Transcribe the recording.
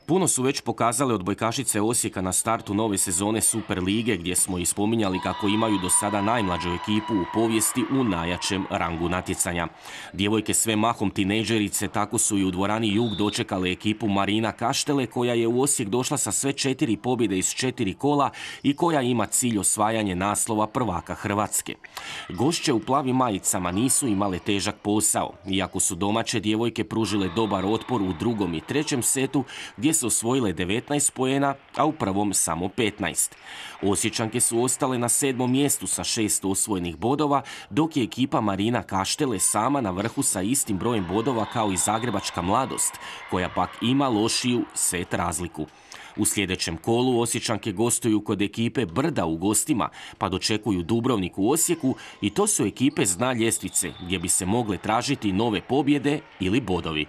Puno su već pokazale odbojkašice Osijeka na startu nove sezone Super lige, gdje smo i spominjali kako imaju do sada najmlađu ekipu u povijesti u najjačem rangu natjecanja. Djevojke sve mahom tinejdžerice tako su i u dvorani Jug dočekale ekipu Marina Kaštele, koja je u Osijek došla sa sve 4 pobjede iz 4 kola i koja ima cilj osvajanje naslova prvaka Hrvatske. Gošće u plavim majicama nisu imale težak posao, iako su domaće djevojke pružile dobar otpor u drugom i trećem setu, gdje su osvojile 19 poena, a u prvom samo 15. Osječanke su ostale na 7. mjestu sa 6 osvojenih bodova, dok je ekipa Marina Kaštele sama na vrhu sa istim brojem bodova kao i Zagrebačka Mladost, koja pak ima lošiju set razliku. U sljedećem kolu Osječanke gostuju kod ekipe Brda u gostima, pa dočekuju Dubrovnik u Osijeku i to su ekipe s dna ljestvice, gdje bi se mogle tražiti nove pobjede ili bodovi.